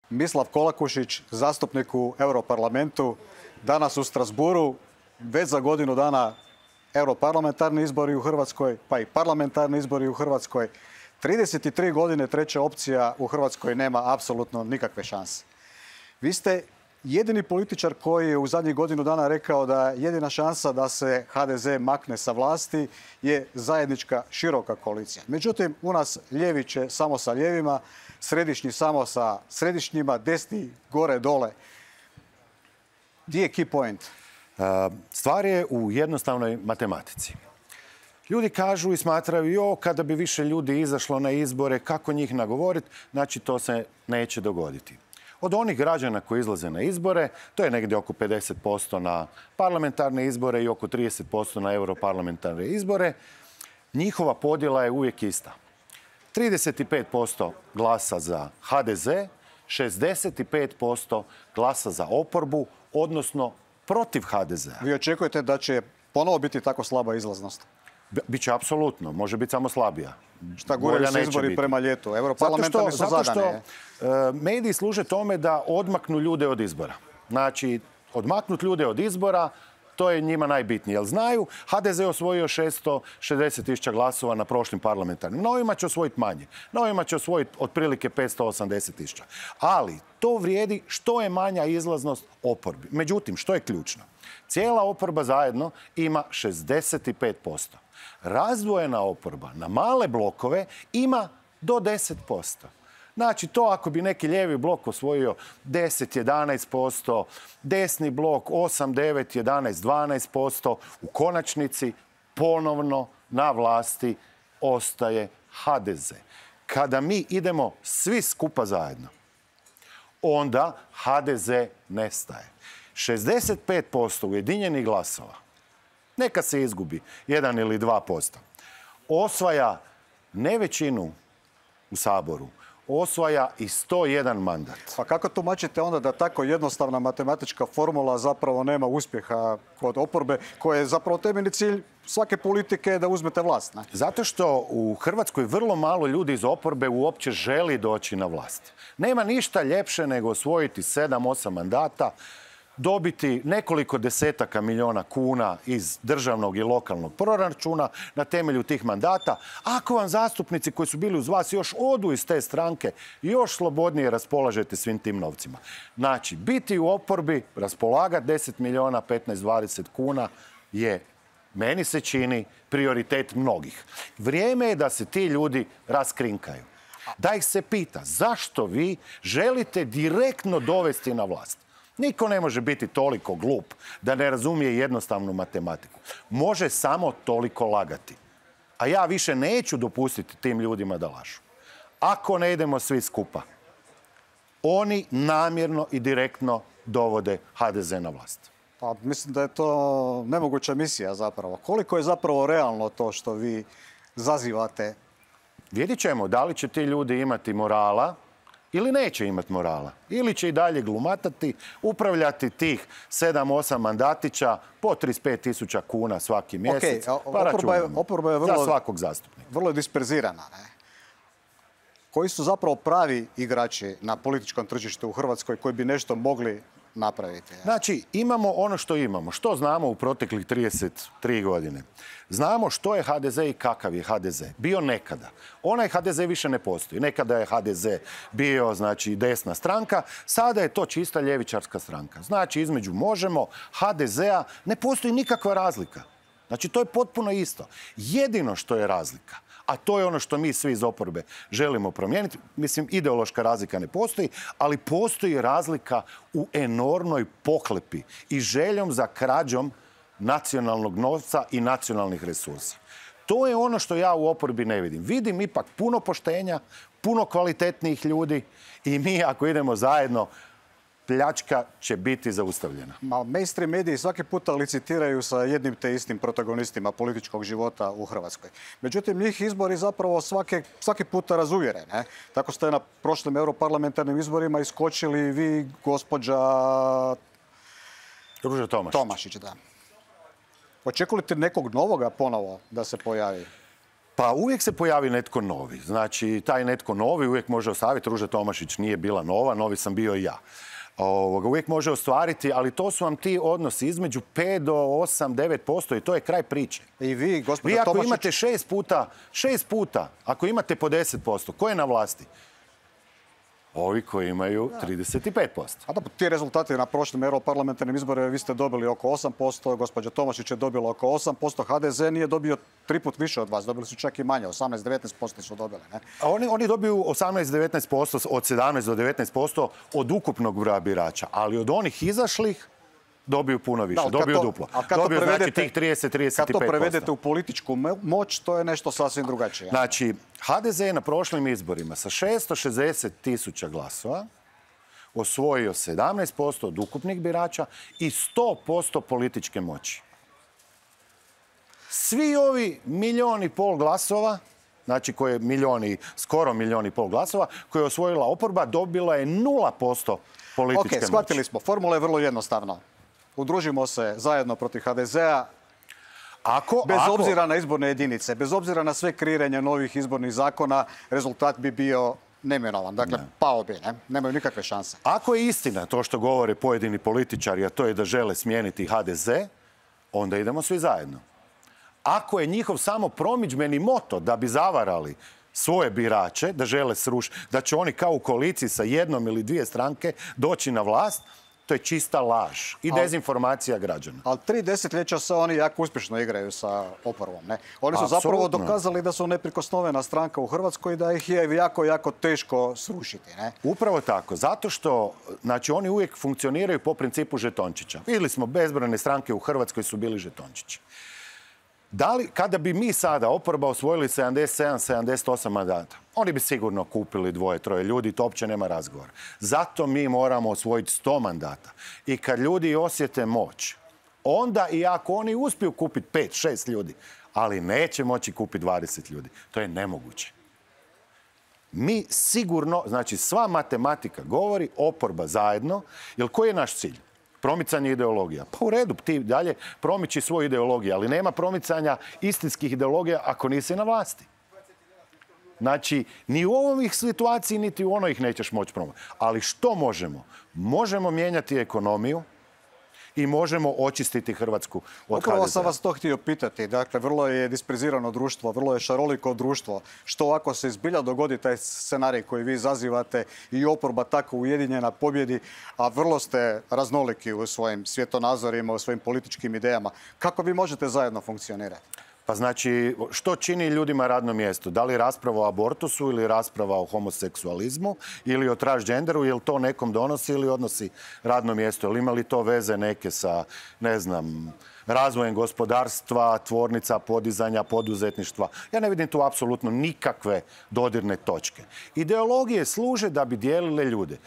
Mislav Kolakušić, zastupnik u Europarlamentu, danas u Strasbourgu, već za godinu dana europarlamentarni izbori u Hrvatskoj, pa i parlamentarni izbori u Hrvatskoj. 33 godine treća opcija u Hrvatskoj nema apsolutno nikakve šanse. Vi ste jedini političar koji je u zadnjih godinu dana rekao da jedina šansa da se HDZ makne sa vlasti je zajednička široka koalicija. Međutim, u nas lijevi će samo sa lijevima, središnji samo sa središnjima, desni gore dole. Gdje je key point? Stvar je u jednostavnoj matematici. Ljudi kažu i smatraju, kada bi više ljudi izašlo na izbore, kako njih nagovoriti, znači to se neće dogoditi. Od onih građana koji izlaze na izbore, to je negdje oko 50% na parlamentarne izbore i oko 30% na europarlamentarne izbore, njihova podjela je uvijek ista. 35% glasa za HDZ, 65% glasa za oporbu, odnosno protiv HDZ-a. Vi očekujete da će ponovo biti tako slaba izlaznost? Biće apsolutno, može biti samo slabija. Šta guraju se izbori prema ljetu? Europarlamentarni su zadane. Zato što mediji služe tome da odmaknu ljude od izbora. Znači, odmaknuti ljude od izbora, to je njima najbitnije. Jer znaju, HDZ je osvojio 660.000 glasova na prošlim parlamentarnim. Na ovima će osvojiti manje. Na ovima će osvojiti otprilike 580.000. Ali to vrijedi što je manja izlaznost oporbi. Međutim, što je ključno? Cijela oporba zajedno ima 65%. Razdvojena oporba na male blokove ima do 10%. Znači, to ako bi neki lijevi blok osvojio 10, 11%, desni blok 8, 9, 11, 12%, u konačnici ponovno na vlasti ostaje HDZ. Kada mi idemo svi skupa zajedno, onda HDZ nestaje. 65% ujedinjenih glasova, neka se izgubi 1 ili 2%, osvaja ne većinu u Saboru, osvaja i 101 mandat. Pa kako tumačite onda da tako jednostavna matematička formula zapravo nema uspjeha kod oporbe, koja je zapravo temeljni cilj svake politike da uzmete vlast? Ne? Zato što u Hrvatskoj vrlo malo ljudi iz oporbe uopće želi doći na vlast. Nema ništa ljepše nego osvojiti 7-8 mandata, dobiti nekoliko desetaka milijuna kuna iz državnog i lokalnog proračuna na temelju tih mandata. Ako vam zastupnici koji su bili uz vas još odu iz te stranke, još slobodnije raspolažete svim tim novcima. Znači, biti u oporbi, raspolagati 10 milijuna, 15, 20 kuna je, meni se čini, prioritet mnogih. Vrijeme je da se ti ljudi raskrinkaju. Da ih se pita zašto vi želite direktno dovesti na vlast. Niko ne može biti toliko glup da ne razumije jednostavnu matematiku. Može samo toliko lagati. A ja više neću dopustiti tim ljudima da lažu. Ako ne idemo svi skupa, oni namjerno i direktno dovode HDZ na vlast. Pa mislim da je to nemoguća misija zapravo. Koliko je zapravo realno to što vi zazivate? Vidjet ćemo da li će ti ljudi imati morala ili neće imati morala. Ili će i dalje glumatati, upravljati tih 7-8 mandatića po 35.000 kuna svaki mjesec. Pa oporba je za svakog zastupnika. Vrlo disperzirana. Ne? Koji su zapravo pravi igrači na političkom tržištu u Hrvatskoj koji bi nešto mogli napraviti? Znači, imamo ono što imamo. Što znamo u proteklih 33 godine? Znamo što je HDZ i kakav je HDZ. Bio nekada. Onaj HDZ više ne postoji. Nekada je HDZ bio, znači, desna stranka. Sada je to čista ljevičarska stranka. Znači, između Možemo, HDZ-a ne postoji nikakva razlika. Znači, to je potpuno isto. Jedino što je razlika, a to je ono što mi svi iz oporbe želimo promijeniti. Mislim, ideološka razlika ne postoji, ali postoji razlika u enormnoj pohlepi i željom za krađom nacionalnog novca i nacionalnih resursa. To je ono što ja u oporbi ne vidim. Vidim ipak puno poštenja, puno kvalitetnijih ljudi i mi ako idemo zajedno, pljačka će biti zaustavljena. Mainstream mediji svaki puta licitiraju sa jednim te istim protagonistima političkog života u Hrvatskoj. Međutim, njih izbori zapravo svaki puta razuvjere. Ne? Tako ste na prošlim europarlamentarnim izborima iskočili vi, gospođa Ruža Tomašić. Da. Očekujete nekog novoga ponovo da se pojavi? Pa uvijek se pojavi netko novi. Znači, taj netko novi uvijek može ostaviti. Ruža Tomašić nije bila nova, novi sam bio i ja. Uvijek može ostvariti, ali to su vam ti odnosi između 5 do 8, 9% i to je kraj priče. I vi, gospođa Vi ako Tomašić... imate 6 puta, ako imate po 10%, ko je na vlasti? Ovi koji imaju 35%. A da, ti rezultati na prošlim europarlamentarnim izborima vi ste dobili oko 8%, gospođa Tomašić je dobila oko 8%, HDZ nije dobio 3 put više od vas, dobili su čak i manje, 18-19% su dobili. Ne? A oni dobiju 18-19%, od 17 do 19% od ukupnog broja birača, ali od onih izašlih dobiju puno više, dobiju duplo. Dobiju znači tih 30-35%. Kad to prevedete u političku moć, to je nešto sasvim drugačije. Znači, HDZ je na prošlim izborima sa 660.000 glasova osvojio 17% od ukupnih birača i 100% političke moći. Svi ovi 1,5 milijuna glasova, znači skoro 1,5 milijuna glasova, koje je osvojila oporba, dobila je 0% političke moći. Shvatili smo. Formula je vrlo jednostavna. Udružimo se zajedno protiv HDZ-a, bez obzira na izborne jedinice, bez obzira na sve kreiranje novih izbornih zakona, rezultat bi bio neminovan. Dakle, pao bi, ne? Nemaju nikakve šanse. Ako je istina to što govore pojedini političari, a to je da žele smijeniti HDZ, onda idemo svi zajedno. Ako je njihov samo promidžbeni moto da bi zavarali svoje birače, da žele srušiti, da će oni kao u koaliciji sa jednom ili dvije stranke doći na vlast, to je čista laž i dezinformacija građana. Ali 3 desetljeća se oni jako uspješno igraju sa oporbom. Ne? Oni su zapravo dokazali da su neprikosnovena stranka u Hrvatskoj i da ih je jako, jako teško srušiti. Ne? Upravo tako. Zato što znači, oni uvijek funkcioniraju po principu žetončića. Vidjeli smo bezbrojne stranke u Hrvatskoj su bili žetončići. Kada bi mi sada, oporba, osvojili 77-78 mandata, oni bi sigurno kupili 2-3 ljudi, to uopće nema razgovora. Zato mi moramo osvojiti 100 mandata. I kad ljudi osjete moć, onda i ako oni uspiju kupiti 5-6 ljudi, ali neće moći kupiti 20 ljudi. To je nemoguće. Mi sigurno, znači sva matematika govori, oporba zajedno, jer koji je naš cilj? Promicanje ideologija. Pa u redu, ti dalje promiči svoju ideologiju, ali nema promicanja istinskih ideologija ako nisi na vlasti. Znači, ni u ovoj situaciji, niti u onoj ih nećeš moći promijeniti. Ali što možemo? Možemo mijenjati ekonomiju i možemo očistiti Hrvatsku od HDZ-a. Upravo sam vas to htio pitati. Dakle, vrlo je disperzirano društvo, vrlo je šaroliko društvo. Što ako se zbilja dogodi taj scenarij koji vi zazivate i oporba tako ujedinjena pobjedi, a vrlo ste raznoliki u svojim svjetonazorima, u svojim političkim idejama. Kako vi možete zajedno funkcionirati? Pa znači, što čini ljudima radno mjesto? Da li rasprava o abortusu ili rasprava o homoseksualizmu ili o transgenderu, je li to nekom donosi ili odnosi radno mjesto? Ili ima li to veze neke sa, ne znam, razvojem gospodarstva, tvornica, podizanja, poduzetništva? Ja ne vidim tu apsolutno nikakve dodirne točke. Ideologije služe da bi dijelile ljude.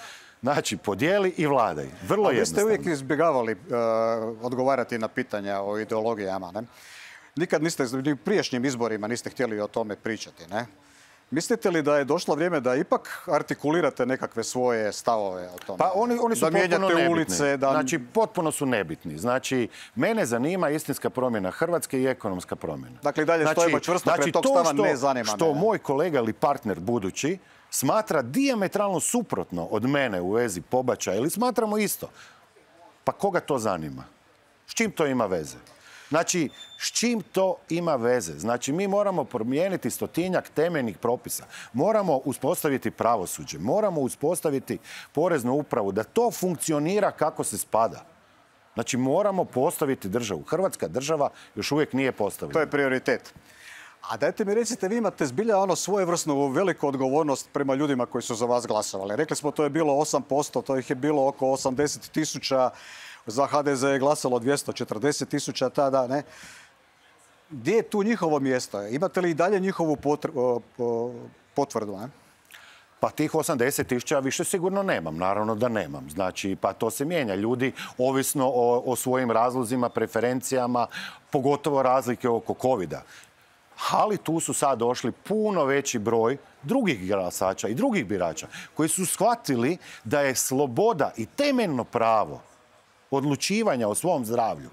Znači, podijeli i vladaj. Vrlo jednostavno. Vi ste uvijek izbjegavali odgovarati na pitanja o ideologijama, ne? Nikad niste, u prijašnjim izborima niste htjeli o tome pričati, ne? Mislite li da je došlo vrijeme da ipak artikulirate nekakve svoje stavove o tome? Pa oni su potpuno nebitni. Ulice, Znači, potpuno su nebitni. Znači, mene zanima istinska promjena Hrvatske i ekonomska promjena. Dakle, dalje stojimo čvrsto pred tog stava, ne zanima me. Što moj kolega ili partner budući smatra dijametralno suprotno od mene u vezi pobačaja ili smatramo isto, pa koga to zanima? S čim to ima veze? Znači, s čim to ima veze? Znači, mi moramo promijeniti 100-tinjak temeljnih propisa. Moramo uspostaviti pravosuđe. Moramo uspostaviti poreznu upravu. Da to funkcionira kako se spada. Znači, moramo postaviti državu. Hrvatska država još uvijek nije postavljena. To je prioritet. A dajte mi recite, vi imate zbilja svojevrsnu veliku odgovornost prema ljudima koji su za vas glasovali. Rekli smo, to je bilo 8%, to ih je bilo oko 80.000. Za HDZ je glasalo 240.000 tada, ne? Gdje je tu njihovo mjesto? Imate li i dalje njihovu potvrdu, ne? Pa tih 80.000 više sigurno nemam, naravno da nemam. Znači, pa to se mijenja. Ljudi, ovisno o svojim razlozima, preferencijama, pogotovo razlike oko covida. Ali tu su sad došli puno veći broj drugih glasača i drugih birača koji su shvatili da je sloboda i temeljno pravo odlučivanja o svom zdravlju,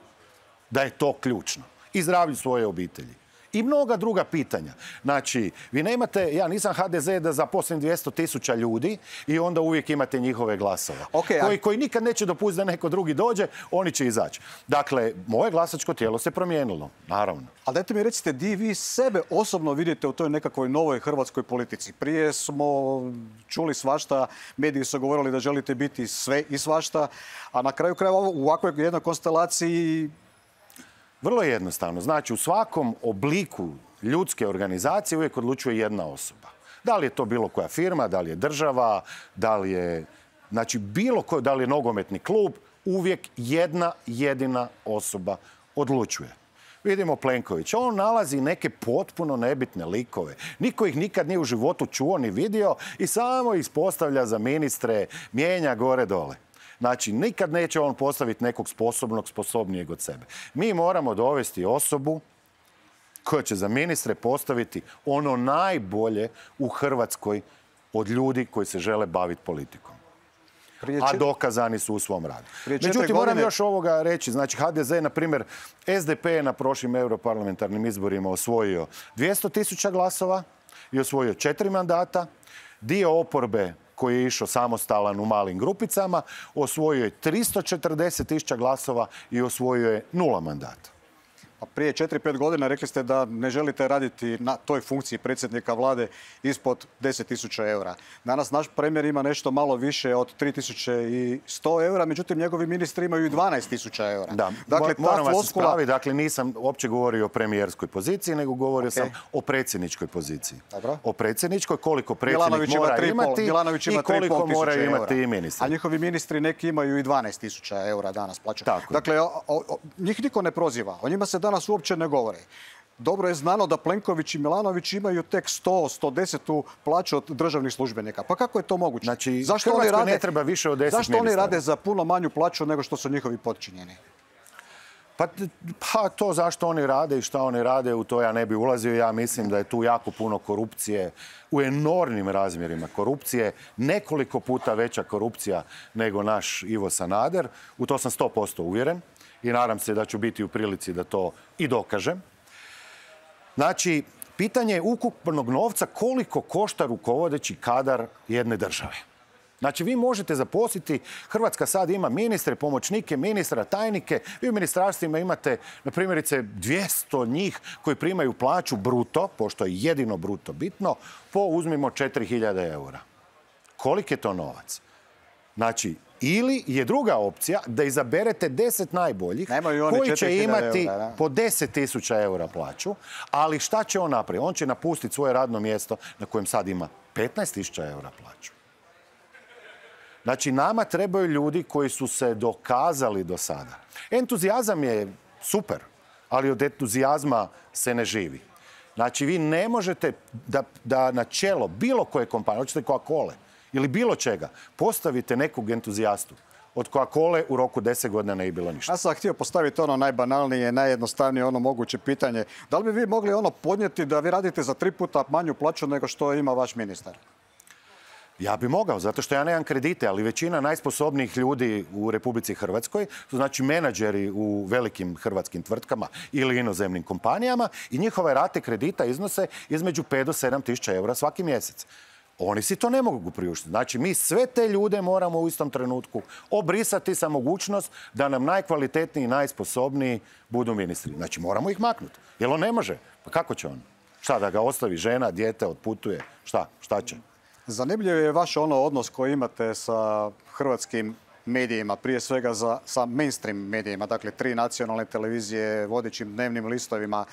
da je to ključno. I zdravlju svoje obitelji. I mnoga druga pitanja. Znači, vi nemate, ja nisam HDZ da zaposlim 200.000 ljudi i onda uvijek imate njihove glasove. Koji nikad neće dopustiti da neko drugi dođe, oni će izaći. Dakle, moje glasačko tijelo se promijenilo, naravno. Ali dajte mi recite, di vi sebe osobno vidite u toj nekakvoj novoj hrvatskoj politici? Prije smo čuli svašta, mediji su govorili da želite biti sve i svašta, a na kraju krajeva u ovakvoj jednoj konstelaciji... Vrlo jednostavno. Znači, u svakom obliku ljudske organizacije uvijek odlučuje jedna osoba. Da li je to bilo koja firma, da li je država, da li je, znači, da li je nogometni klub, uvijek jedna jedina osoba odlučuje. Vidimo Plenkovića. On nalazi neke potpuno nebitne likove. Niko ih nikad nije u životu čuo ni vidio i samo ih postavlja za ministre, mijenja gore dole. Znači, nikad neće on postaviti nekog sposobnijeg od sebe. Mi moramo dovesti osobu koja će za ministre postaviti ono najbolje u Hrvatskoj od ljudi koji se žele baviti politikom. A dokazani su u svom radu. Međutim, moram još ovoga reći. Znači, HDZ, na primjer, SDP je na prošlim europarlamentarnim izborima osvojio 200.000 glasova i osvojio 4 mandata. Dio oporbe koji je išao samostalan u malim grupicama, osvojio je 340.000 glasova i osvojio je 0 mandata. A prije 4-5 godina rekli ste da ne želite raditi na toj funkciji predsjednika vlade ispod 10.000 eura. Danas naš premijer ima nešto malo više od 3.100 eura, međutim njegovi ministri imaju i 12.000 eura. Da, dakle, moram vas ispraviti, dakle nisam uopće govorio o premijerskoj poziciji, nego govorio sam o predsjedničkoj poziciji. Dobro. O predsjedničkoj, koliko predsjednik mora imati i koliko moraju imati i ministri. A njihovi ministri neki imaju i 12.000 eura danas plaću. Dakle, njih niko ne proziva. O njima se danas uopće ne govori. Dobro je znano da Plenković i Milanović imaju tek 100-110 plaću od državnih službenika. Pa kako je to moguće? Znači, Hrvatskoj ne treba više od 10 ministara. Zašto oni rade za puno manju plaću nego što su njihovi potčinjeni? Pa to zašto oni rade i šta oni rade, u to ja ne bi ulazio. Ja mislim da je tu jako puno korupcije, u enormnim razmjerima korupcije, nekoliko puta veća korupcija nego naš Ivo Sanader. U to sam 100% uvjeren i nadam se da ću biti u prilici da to i dokažem. Znači, pitanje je ukupnog novca koliko košta rukovodeći kadar jedne države. Znači, vi možete zaposliti, Hrvatska sad ima ministre, pomoćnike ministra, tajnike. Vi u ministarstvima imate, na primjerice, 200 njih koji primaju plaću bruto, pošto je jedino bruto bitno, po uzmimo 4.000 eura. Koliki je to novac? Znači, ili je druga opcija da izaberete 10 najboljih koji će imati po 10.000 eura plaću, ali šta će on napraviti? On će napustiti svoje radno mjesto na kojem sad ima 15.000 eura plaću. Znači, nama trebaju ljudi koji su se dokazali do sada. Entuzijazam je super, ali od entuzijazma se ne živi. Znači, vi ne možete da na čelo bilo koje kompanije, hoćete Coca-Cole ili bilo čega, postavite nekog entuzijastu. Od Coca-Cole u roku 10 godina ne bi bilo ništa. Ja sam htio postaviti ono najbanalnije, najjednostavnije ono moguće pitanje. Da li bi vi mogli ono podnijeti da vi radite za 3 puta manju plaću nego što ima vaš ministar? Ja bi mogao, zato što ja nemam kredite, ali većina najsposobnijih ljudi u Republici Hrvatskoj su znači menadžeri u velikim hrvatskim tvrtkama ili inozemnim kompanijama i njihove rate kredita iznose između 5 do 7 tisuća eura svaki mjesec. Oni si to ne mogu priuštiti. Znači, mi sve te ljude moramo u istom trenutku obrisati sa mogućnost da nam najkvalitetniji i najsposobniji budu ministri. Znači, moramo ih maknuti. Jer on ne može. Pa kako će on? Šta, da ga ostavi žena, dijete, otputuje? Šta će? Zanimljiv je vaš odnos koji imate sa hrvatskim medijima, prije svega sa mainstream medijima, dakle 3 nacionalne televizije, vodećim dnevnim listovima.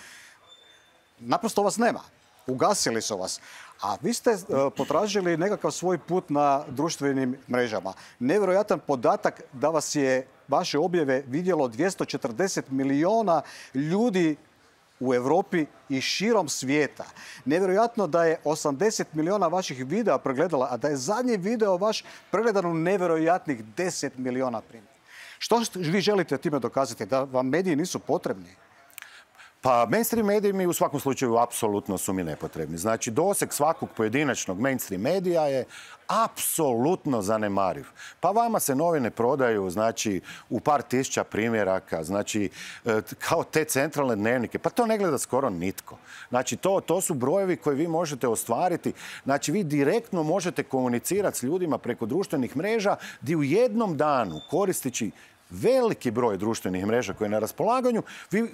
Naprosto vas nema. Ugasili su vas. A vi ste potražili nekakav svoj put na društvenim mrežama. Nevjerojatan podatak da vas je vaše objave vidjelo 240 milijuna ljudi u Europi i širom svijeta. Nevjerojatno da je 80 milijuna vaših videa pregledala, a da je zadnji video vaš pregledan u nevjerojatnih 10 milijuna primjera. Što vi želite time dokazati? Da vam mediji nisu potrebni? Pa mainstream mediji mi u svakom slučaju apsolutno su mi nepotrebni. Znači, doseg svakog pojedinačnog mainstream medija je apsolutno zanemariv. Pa vama se novine prodaju, znači, u par tisuća primjeraka, znači, kao te centralne dnevnike. Pa to ne gleda skoro nitko. Znači, to su brojevi koje vi možete ostvariti. Znači, vi direktno možete komunicirati s ljudima preko društvenih mreža gdje u jednom danu koristeći veliki broj društvenih mreža koje je na raspolaganju,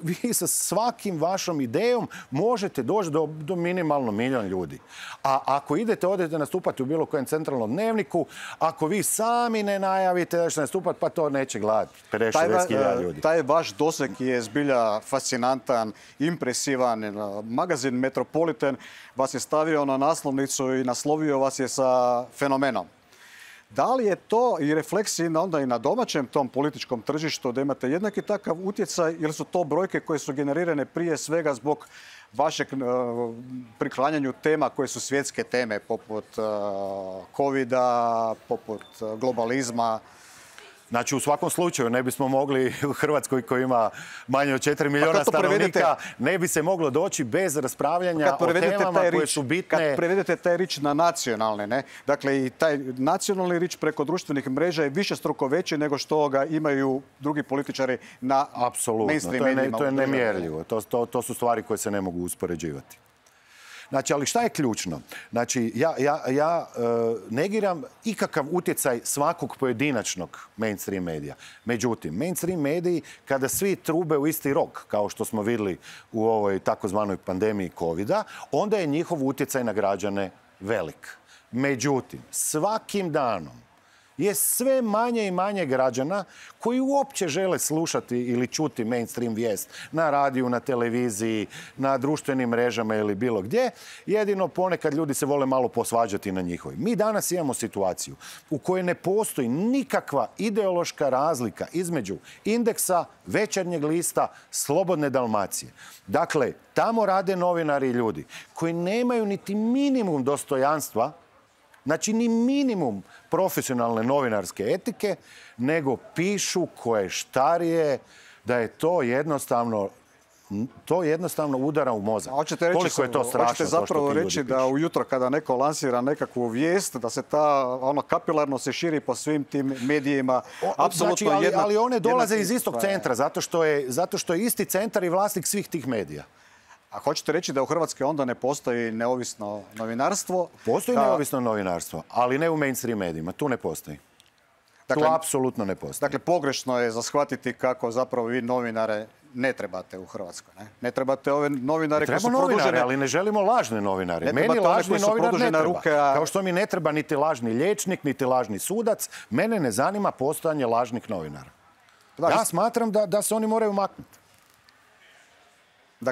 vi sa svakim vašom idejom možete doći do minimalno 1 milion ljudi. A ako odete nastupati u bilo kojem centralnom dnevniku, ako vi sami ne najavite da ćete nastupati, pa to neće gledati 50-60 ljudi. Taj vaš doseg je zbilja fascinantan, impresivan. Magazin Metropolitan vas je stavio na naslovnicu i naslovio vas je sa fenomenom. Da li je to i refleksija onda i na domaćem tom političkom tržištu da imate jednaki takav utjecaj ili su to brojke koje su generirane prije svega zbog vašeg priklanjanju tema koje su svjetske teme poput covida, poput globalizma? Znači, u svakom slučaju ne bismo mogli u Hrvatskoj koja ima manje od 4 miliona stanovnika, ne bi se moglo doći bez raspravljanja o temama koje su bitne. Kad prevedete taj rič na nacionalne, ne? Dakle, i taj nacionalni rič preko društvenih mreža je višestruko veći nego što ga imaju drugi političari na mainstream medijima. To je nemjerljivo. To su stvari koje se ne mogu uspoređivati. Znači, ali šta je ključno? Znači, ja negiram ikakav utjecaj svakog pojedinačnog mainstream medija. Međutim, mainstream mediji, kada svi trube u isti rog, kao što smo vidjeli u ovoj takozvanoj pandemiji covida, onda je njihov utjecaj na građane velik. Međutim, svakim danom je sve manje i manje građana koji uopće žele slušati ili čuti mainstream vijest na radiju, na televiziji, na društvenim mrežama ili bilo gdje. Jedino ponekad ljudi se vole malo posvađati na njihovi. Mi danas imamo situaciju u kojoj ne postoji nikakva ideološka razlika između Indeksa, Večernjeg lista, Slobodne Dalmacije. Dakle, tamo rade novinari i ljudi koji nemaju niti minimum dostojanstva, znači ni minimum profesionalne novinarske etike, nego pišu koje štarije, da je to jednostavno udara u mozak. Koliko je to strašno. Hoćete zapravo reći da ujutro kada neko lansira nekakvu vijest, da se ta kapilarno se širi po svim tim medijima. Znači, ali one dolaze iz istog centra, zato što je isti centar i vlasnik svih tih medija. A hoćete reći da u Hrvatskoj onda ne postoji neovisno novinarstvo? Postoji neovisno novinarstvo, ali ne u mainstream medijima. Tu ne postoji. Tu apsolutno ne postoji. Dakle, pogrešno je za shvatiti kako zapravo vi novinare ne trebate u Hrvatskoj. Ne trebate ove novinare koji su produžene... ali ne želimo lažne novinare. Meni lažni novinar ne treba. Kao što mi ne treba niti lažni liječnik, niti lažni sudac, mene ne zanima postojanje lažnih novinara. Ja smatram da se oni moraju maknuti.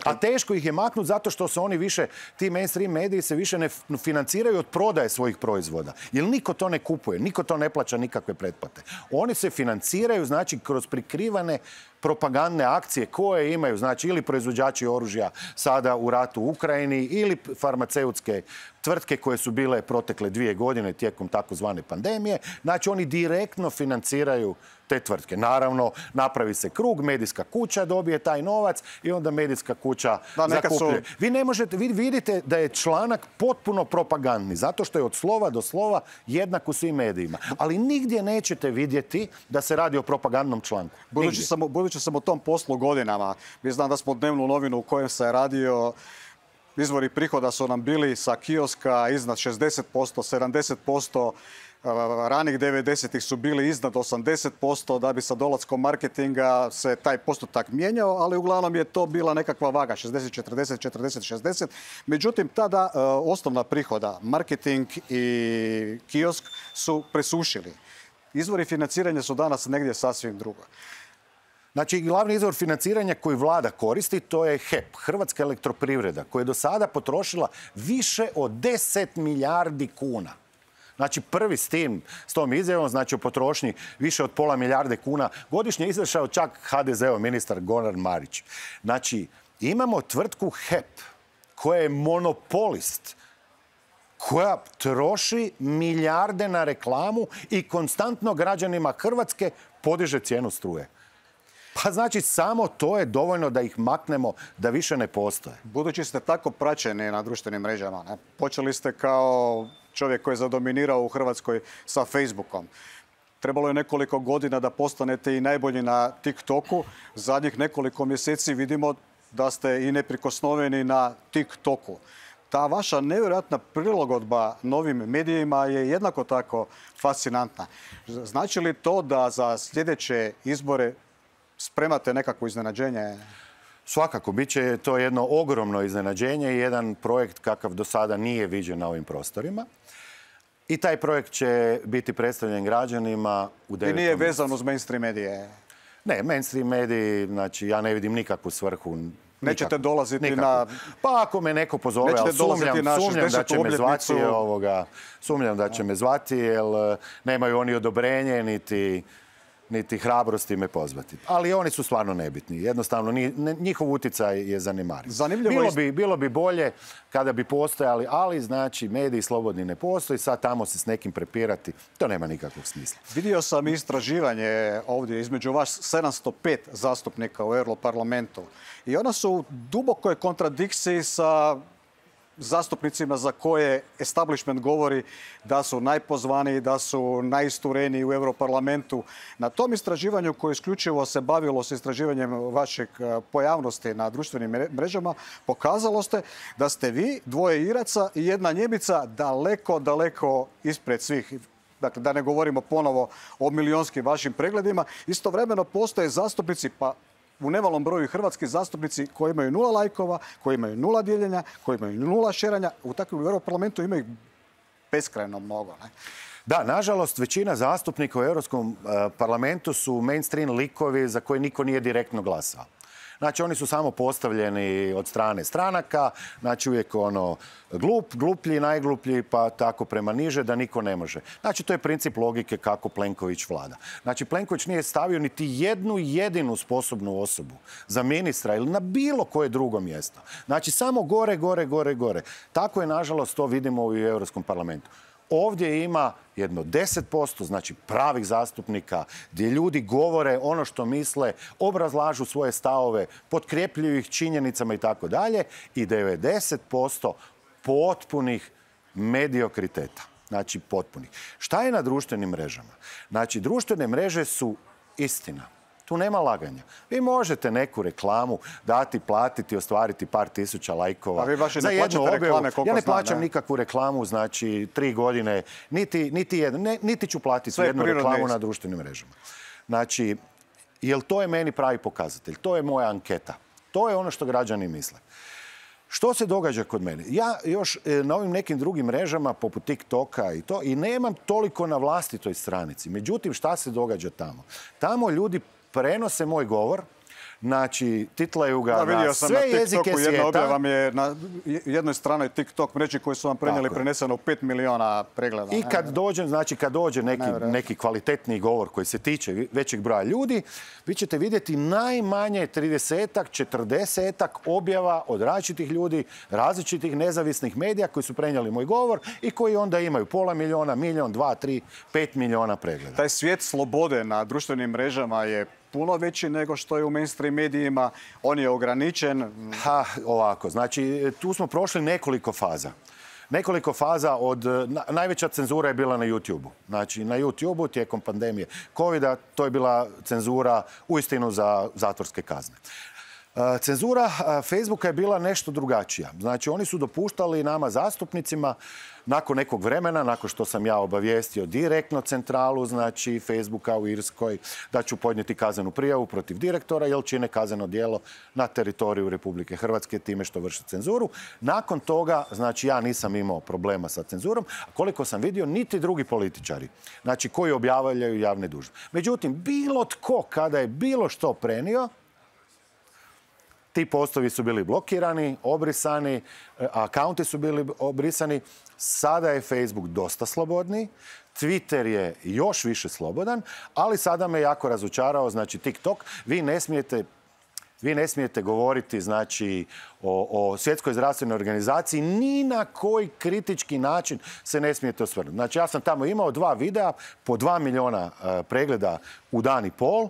A teško ih je maknuti zato što se oni više, ti mainstream mediji se više ne financiraju od prodaje svojih proizvoda. Jer niko to ne kupuje, niko to ne plaća nikakve pretplate. Oni se financiraju, znači, kroz prikrivane propagandne akcije koje imaju, znači, ili proizvođači oružja sada u ratu u Ukrajini ili farmaceutske tvrtke koje su bile protekle 2 godine tijekom takozvane pandemije. Znači, oni direktno financiraju te tvrtke. Naravno, napravi se krug, medijska kuća dobije taj novac i onda medijska kuća zakupljuje. Vi vidite da je članak potpuno propagandni, zato što je od slova do slova jednak u svim medijima. Ali nigdje nećete vidjeti da se radi o propagandnom članku. Budući sam u tom poslu godinama, mi znam da smo dnevnu novinu u kojem se radio, izvori prihoda su nam bili sa kioska iznad 60%, 70%, ranih 90-ih su bili iznad 80%, da bi sa dolaskom marketinga se taj postotak mijenjao, ali uglavnom je to bila nekakva vaga, 60-40, 40-60. Međutim, tada osnovna prihoda, marketing i kiosk su presušili. Izvori financiranja su danas negdje sasvim drugo. Znači, glavni izvor financiranja koji vlada koristi, to je HEP, Hrvatska elektroprivreda, koja je do sada potrošila više od 10 milijardi kuna. Znači, prvi s tom izjavom, znači o potrošnji više od pola milijarde kuna, godišnje izašao čak HDZ-ov ministar Goran Marić. Znači, imamo tvrtku HEP, koja je monopolist, koja troši milijarde na reklamu i konstantno građanima Hrvatske podiže cijenu struje. Pa znači samo to je dovoljno da ih maknemo, da više ne postoje. Budući ste tako praćeni na društvenim mrežama, ne? Počeli ste kao čovjek koji je zadominirao u Hrvatskoj sa Facebookom. Trebalo je nekoliko godina da postanete i najbolji na TikToku. Zadnjih nekoliko mjeseci vidimo da ste i neprikosnoveni na TikToku. Ta vaša nevjerojatna prilagodba novim medijima je jednako tako fascinantna. Znači li to da za sljedeće izbore spremate nekakvo iznenađenje? Svakako, bit će to jedno ogromno iznenađenje i jedan projekt kakav do sada nije viđen na ovim prostorima. I taj projekt će biti predstavljen građanima u 9. I nije vezan uz mainstream medije? Ne, mainstream mediji, znači ja ne vidim nikakvu svrhu. Nećete dolaziti na... Pa ako me neko pozove, ali sumnjam da će me zvati, jer nemaju oni odobrenje, niti hrabrosti me pozvati. Ali oni su stvarno nebitni. Jednostavno, njihov utjecaj je zanemariv. Bilo bi bolje kada bi postojali, ali znači mediji slobodni ne postoji, sad tamo se s nekim prepirati, to nema nikakvog smisla. Vidio sam istraživanje ovdje između vas 705 zastupnika u Europarlamentu i ona su u dubokoj kontradikciji sa zastupnicima za koje establishment govori da su najpozvaniji, da su najistureniji u Europarlamentu. Na tom istraživanju koje isključivo se bavilo s istraživanjem vašeg pojavnosti na društvenim mrežama, pokazalo ste da ste vi, dvoje Iraca i jedna Njemica daleko ispred svih. Dakle, da ne govorimo ponovo o milionskim vašim pregledima. Istovremeno postoje zastupnici, pa u nemalom broju hrvatski zastupnici koji imaju 0 lajkova, koji imaju 0 dijeljenja, koji imaju 0 šeranja. U takvom Europarlamentu ima ih beskrajno mnogo. Ne? Da, nažalost, većina zastupnika u Europskom parlamentu su mainstream likovi za koje niko nije direktno glasao. Znači, oni su samo postavljeni od strane stranaka, znači uvijek gluplji, najgluplji, pa tako prema niže da niko ne može. Znači, to je princip logike kako Plenković vlada. Znači, Plenković nije stavio niti jednu jedinu sposobnu osobu za ministra ili na bilo koje drugo mjesto. Znači, samo gore. Tako je, nažalost, to vidimo u Europskom parlamentu. Ovdje ima jedno 10%, znači pravih zastupnika, gdje ljudi govore ono što misle, obrazlažu svoje stavove, potkrepljuju ih činjenicama i tako dalje, i 90% potpunih mediokriteta. Znači potpunih. Šta je na društvenim mrežama? Znači, društvene mreže su istina. Tu nema laganja. Vi možete neku reklamu dati, platiti, ostvariti par tisuća lajkova. A vi baš ne plaćate reklame, koliko ja ne plaćam nikakvu reklamu, znači 3 godine, niti ću platiti jednu reklamu na društvenim mrežama. Znači, jer to je meni pravi pokazatelj. To je moja anketa. To je ono što građani misle. Što se događa kod mene? Ja još na ovim nekim drugim mrežama, poput TikToka i nemam toliko na vlastitoj stranici. Međutim, šta se događa tamo? Tamo ljudi prenose moj govor, znači titlaju ga na sve jezike svijeta. Jedna objava vam je na jednoj stranoj TikTok mreži koju su vam prenijeli preneseno u 5 miliona pregleda. I kad dođe neki kvalitetni govor koji se tiče većeg broja ljudi, vi ćete vidjeti najmanje 30-ak, 40-ak objava od različitih ljudi, različitih nezavisnih medija koji su prenijeli moj govor i koji onda imaju pola milijuna, milijon, 2, 3, 5 miliona pregleda. Taj svijet slobode na društvenim mrežama je puno veći nego što je u mainstream medijima. On je ograničen. Ovako, znači tu smo prošli nekoliko faza. Nekoliko faza najveća cenzura je bila na YouTube-u. Znači na YouTube-u tijekom pandemije COVID-a to je bila cenzura uistinu za zatvorske kazne. Cenzura Facebooka je bila nešto drugačija. Znači, oni su dopuštali nama zastupnicima nakon nekog vremena, nakon što sam ja obavijestio direktno centralu, znači Facebooka u Irskoj, da ću podnijeti kaznenu prijavu protiv direktora jer čine kazneno djelo na teritoriju Republike Hrvatske time što vrše cenzuru. Nakon toga, znači, ja nisam imao problema sa cenzurom, a koliko sam vidio, niti drugi političari, znači, koji objavljaju javne dužnosti. Međutim, bilo tko kada je bilo što prenio, ti postovi su bili blokirani, obrisani, akaunti su bili obrisani. Sada je Facebook dosta slobodniji, Twitter je još više slobodan, ali sada me jako razočarao, znači TikTok, vi ne smijete govoriti, znači, o Svjetskoj zdravstvenoj organizaciji, ni na koji kritički način se ne smijete osvrnuti. Znači, ja sam tamo imao 2 videa po 2 miliona pregleda u dan i pol,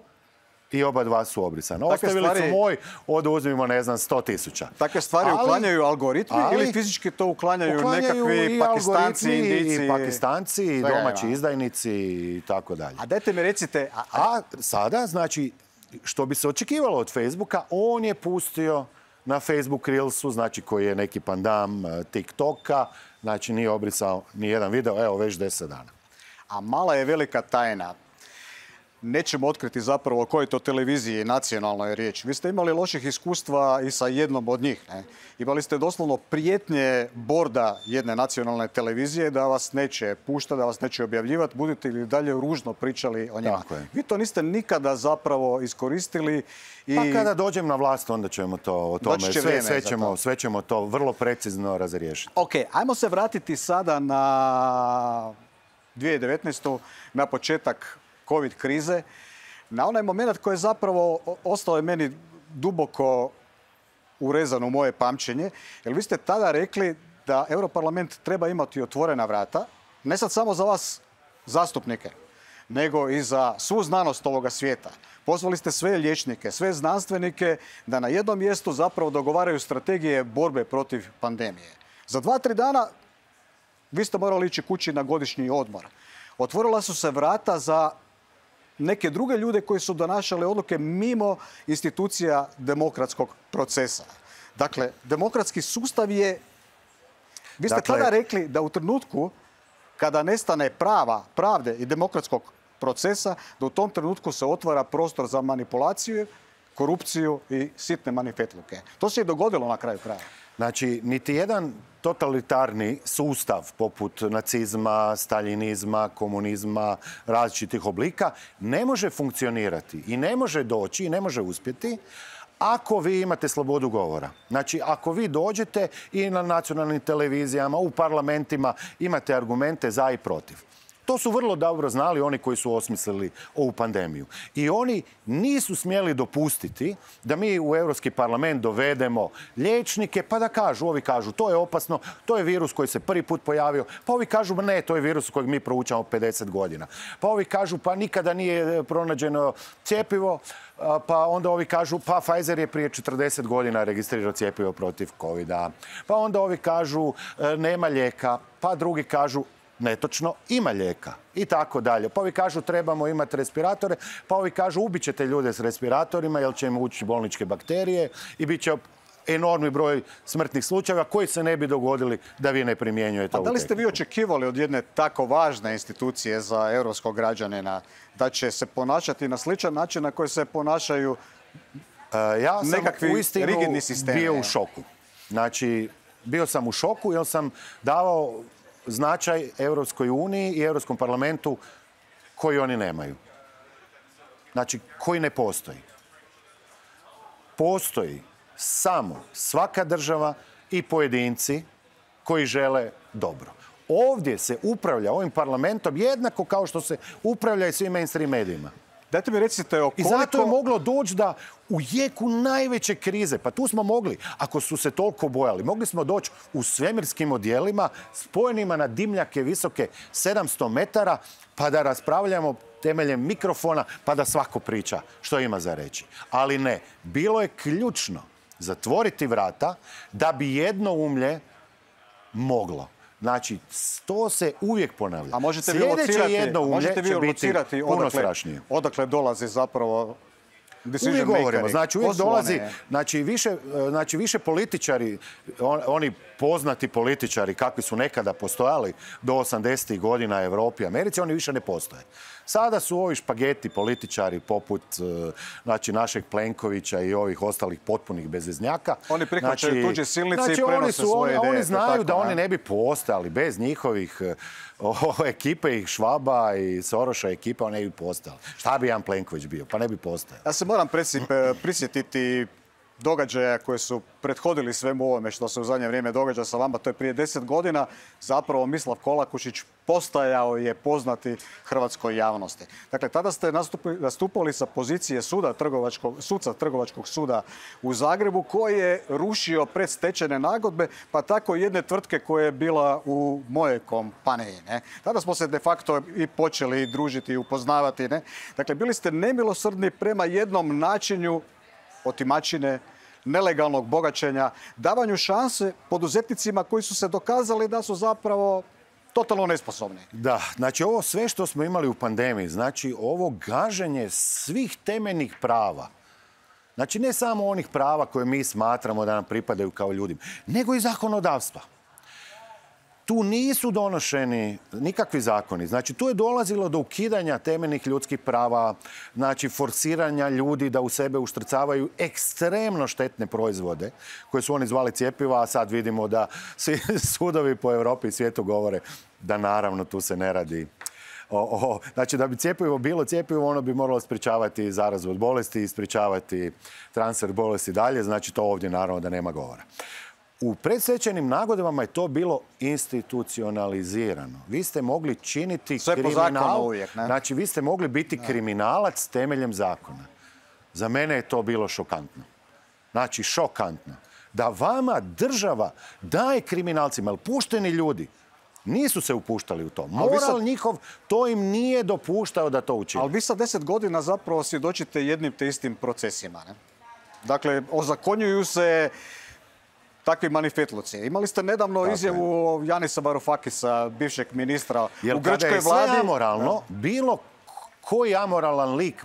i oba dva su obrisana. Ostavili su moj, oduzmimo, ne znam, 100.000. Takve stvari uklanjaju algoritmi ili fizički to uklanjaju nekakvi Pakistanci, Indijci? I Pakistanci, i domaći izdajnici i tako dalje. A dajte mi recite... A sada, znači, što bi se očekivalo od Facebooka, on je pustio na Facebook Reelsu, znači koji je neki pandam TikToka, znači nije obrisao ni jedan video, evo već 10 dana. A mala je velika tajna. Nećemo otkriti zapravo o kojoj to televiziji nacionalnoj je riječ. Vi ste imali loših iskustva i sa jednom od njih. Ne? Imali ste doslovno prijetnje borda jedne nacionalne televizije da vas neće puštati, da vas neće objavljivati, budete li dalje ružno pričali o njima. Vi to niste nikada zapravo iskoristili. Pa kada dođem na vlast, onda ćemo to o tome. Sve ćemo to vrlo precizno razriješiti. Ok, ajmo se vratiti sada na 2019. na početak COVID krize, na onaj moment koji je zapravo ostao je meni duboko urezan u moje pamćenje, jer vi ste tada rekli da Europarlament treba imati otvorena vrata, ne sad samo za vas zastupnike, nego i za svu znanost ovoga svijeta. Pozvali ste sve liječnike, sve znanstvenike da na jednom mjestu zapravo dogovaraju strategije borbe protiv pandemije. Za 2-3 dana vi ste morali ići kući na godišnji odmor. Otvorila su se vrata za neke druge ljude koji su donašali odluke mimo institucija demokratskog procesa. Dakle, demokratski sustav je... Vi ste tada rekli da u trenutku kada nestane pravde i demokratskog procesa, da u tom trenutku se otvara prostor za manipulaciju, korupciju i sitne manifetluke. To se i dogodilo na kraju kraja. Znači, niti jedan totalitarni sustav poput nacizma, staljinizma, komunizma, različitih oblika ne može funkcionirati i ne može doći i ne može uspjeti ako vi imate slobodu govora. Znači, ako vi dođete i na nacionalnim televizijama, u parlamentima imate argumente za i protiv. To su vrlo dobro znali oni koji su osmislili ovu pandemiju. I oni nisu smjeli dopustiti da mi u Europski parlament dovedemo liječnike pa da kažu, ovi kažu to je opasno, to je virus koji se prvi put pojavio, pa ovi kažu ne, to je virus kojeg mi proučavamo 50 godina. Pa ovi kažu pa nikada nije pronađeno cjepivo, pa onda ovi kažu pa Pfizer je prije 40 godina registrirao cjepivo protiv COVID-a. Pa onda ovi kažu nema lijeka, pa drugi kažu netočno, ima lijeka i tako dalje. Pa ovi kažu trebamo imati respiratore, pa ovi kažu ubit ćete ljude s respiratorima jer će im ući bolničke bakterije i bit će enormni broj smrtnih slučajeva koji se ne bi dogodili da vi ne primjenjujete ovu tehniku. A da li ste vi očekivali od jedne tako važne institucije za europskog građanina da će se ponašati na sličan način na koji se ponašaju nekakvi rigidni sistemi? Ja sam uistinu bio u šoku. Znači, bio sam u šoku jer sam davao značaj Europskoj uniji i Europskom parlamentu koji oni nemaju. Znači, koji ne postoji. Postoji samo svaka država i pojedinci koji žele dobro. Ovdje se upravlja ovim parlamentom jednako kao što se upravlja i svim mainstream medijima. Dajte mi recite o koliko... I zato je moglo doći da u jeku najveće krize, pa tu smo mogli, ako su se toliko bojali, mogli smo doći u svemirskim odjelima spojenima na dimljake visoke 700 metara, pa da raspravljamo temeljem mikrofona, pa da svako priča što ima za reći. Ali ne, bilo je ključno zatvoriti vrata da bi jednoumlje moglo. Znači, to se uvijek ponavlja. A možete vi locirati puno strašnije. Odakle dolazi zapravo decision makeri? Uvijek govorimo. Znači, uvijek dolazi, više političari, oni poznati političari kakvi su nekada postojali do 80. godina Europi i Americi, oni više ne postoje. Sada su ovi špageti političari poput našeg Plenkovića i ovih ostalih potpunih bezveznjaka. Oni prihvaćaju tuđe silnice i prenose svoje ideje. Oni znaju da oni ne bi postali bez njihovih ekipe i Švaba i Soroša ekipa, oni ne bi postali. Šta bi Jan Plenković bio? Pa ne bi postao. Ja se moram prisjetiti događaja koji su prethodili svemu ovome što se u zadnje vrijeme događa sa vama, to je prije 10 godina, zapravo Mislav Kolakušić postajao je poznati hrvatskoj javnosti. Dakle, tada ste nastupali sa pozicije suca Trgovačkog suda u Zagrebu koji je rušio predstečajne nagodbe, pa tako i jedne tvrtke koja je bila u mojoj kompaniji. Ne? Tada smo se de facto i počeli družiti i upoznavati. Ne? Dakle, bili ste nemilosrdni prema jednom načinu otimačine, nelegalnog bogaćenja, davanju šanse poduzetnicima koji su se dokazali da su zapravo totalno nesposobni. Da, znači ovo sve što smo imali u pandemiji, znači ovo gaženje svih temeljnih prava, znači ne samo onih prava koje mi smatramo da nam pripadaju kao ljudima, nego i zakonodavstva. Tu nisu donošeni nikakvi zakoni. Znači, tu je dolazilo do ukidanja temeljnih ljudskih prava, znači, forsiranja ljudi da u sebe uštrcavaju ekstremno štetne proizvode, koje su oni zvali cjepiva, a sad vidimo da svi sudovi po Europi i svijetu govore da naravno tu se ne radi. Znači, da bi cjepivo bilo cjepivo, ono bi moralo sprječavati zarazu od bolesti i sprječavati transfer bolesti dalje. Znači, to ovdje naravno da nema govora. U predstečajnim nagodbama je to bilo institucionalizirano. Vi ste mogli činiti kriminal. Uvijek, ne? Znači, vi ste mogli biti kriminalac temeljem zakona. Za mene je to bilo šokantno. Znači, šokantno. Da vama država daje kriminalcima, ali pušteni ljudi nisu se upuštali u to. Moral njihov to im nije dopuštao da to učine. Ali vi sa 10 godina zapravo svjedočite jednim te istim procesima. Ne? Dakle, ozakonjuju se takvi manifetluci. Imali ste nedavno izjavu Janisa Varoufakisa, bivšeg ministra u grčkoj vladi. Kada je sve amoralno, bilo koji amoralan lik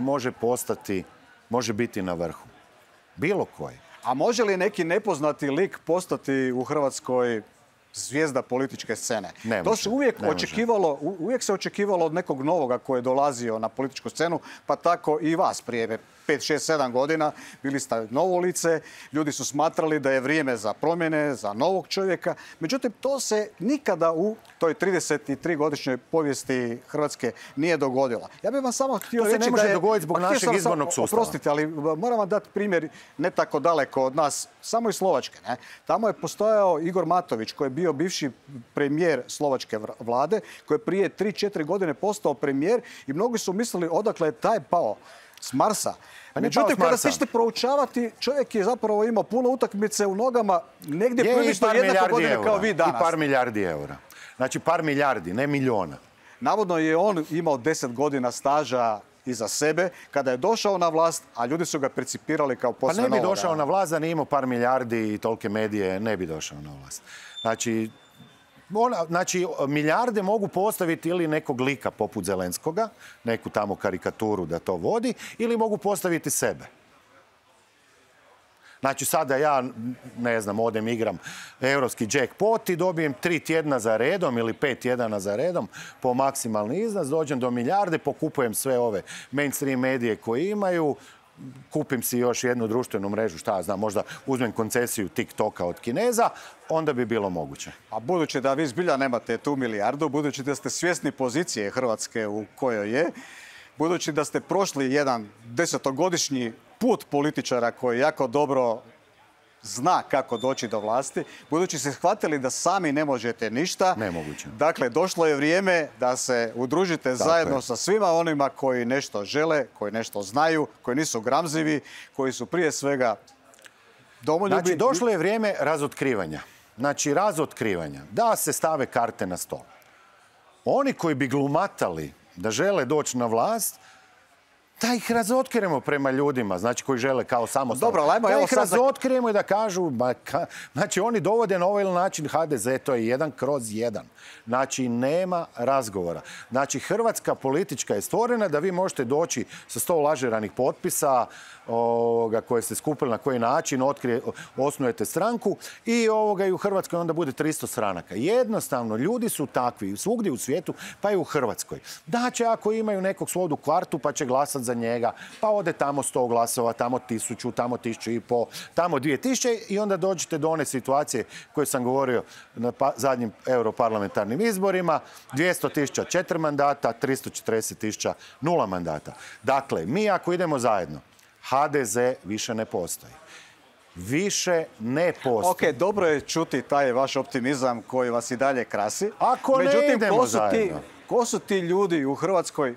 može biti na vrhu. Bilo koji. A može li neki nepoznati lik postati u Hrvatskoj zvijezda političke scene? Ne to može, se uvijek se očekivalo od nekog novoga koji je dolazio na političku scenu, pa tako i vas prije 5, 6, 7 godina. Bili ste novo lice, ljudi su smatrali da je vrijeme za promjene, za novog čovjeka. Međutim, to se nikada u toj 33-godišnjoj povijesti Hrvatske nije dogodilo. Ja bih vam samo htio reći da je... To se ne može dogoditi zbog našeg izbornog sustava. Oprostite, ali moram vam dati primjer ne tako daleko od nas, samo iz Slovačke. Ne? Tamo je postojao Igor Matović, koji je bio bivši premijer slovačke vlade, koji je prije 3-4 godine postao premijer i mnogi su mislili odakle je taj pao s Marsa. Međutim, kada se ćete proučavati, čovjek je zapravo imao puno utakmice u nogama, negdje prilično jednako godine kao vi danas. I par milijardi eura. Znači par milijardi, ne milijona. Navodno je on imao 10 godina staža iza sebe kada je došao na vlast, a ljudi su ga percipirali kao posve novoga. Pa ne bi došao na vlast da nije imao par milijardi i tolike medije, ne bi došao na vlast. Znači, milijarde mogu postaviti ili nekog lika poput Zelenskoga, neku tamo karikaturu da to vodi, ili mogu postaviti sebe. Znači, sada ja, ne znam, odem igram europski jackpot i dobijem 3 tjedna za redom ili 5 tjedana za redom po maksimalni iznos, dođem do milijarde, pokupujem sve ove mainstream medije koje imaju, kupim si još jednu društvenu mrežu, šta ja znam, možda uzmem koncesiju TikToka od Kineza, onda bi bilo moguće. A budući da vi zbilja nemate tu milijardu, budući da ste svjesni pozicije Hrvatske u kojoj je, budući da ste prošli jedan 10-godišnji put političara koji jako dobro zna kako doći do vlasti, budući ste shvatili da sami ne možete ništa. Nemoguće. Dakle, došlo je vrijeme da se udružite zajedno sa svima onima koji nešto žele, koji nešto znaju, koji nisu gramzivi, koji su prije svega domoljubi. Znači, došlo je vrijeme razotkrivanja. Znači, razotkrivanja. Da se stave karte na stol. Oni koji bi glumatali da žele doći na vlast, da ih razotkrijemo prema ljudima, znači koji žele kao samostalno. Da ih razotkrijemo i da kažu, znači oni dovode na ovaj način HDZ, to je 1/1. Znači nema razgovora. Znači Hrvatska politička je stvorena da vi možete doći sa 100 lažiranih potpisa koje ste skupili na koji način, osnujete stranku i u Hrvatskoj onda bude 300 stranaka. Jednostavno, ljudi su takvi svugdje u svijetu, pa i u Hrvatskoj. Da će ako imaju nekog svog u kvartu pa će glasati za njega, pa ode tamo 100 glasova, tamo 1000, tamo 1500, tamo 2000 i onda dođete do one situacije koje sam govorio na zadnjim europarlamentarnim izborima, 200.000 4 mandata, 340.000 0 mandata. Dakle, mi ako idemo zajedno, HDZ više ne postoji. više ne postoji. Ok, dobro je čuti taj vaš optimizam koji vas i dalje krasi. Ako ne idemo zajedno. Ko su ti ljudi u Hrvatskoj?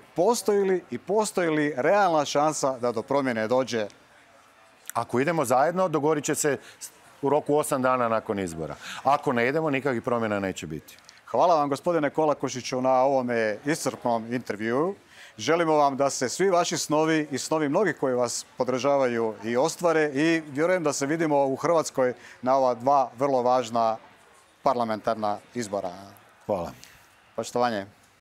Postoji li realna šansa da do promjene dođe? Ako idemo zajedno, dogovorit će se u roku 8 dana nakon izbora. Ako ne idemo, nikakvih promjena neće biti. Hvala vam, gospodine Kolakušiću, na ovome iscrpnom intervjuu. Želimo vam da se svi vaši snovi i snovi mnogih koji vas podržavaju i ostvare i vjerujem da se vidimo u Hrvatskoj na ova dva vrlo važna parlamentarna izbora. Hvala. Poštovanje.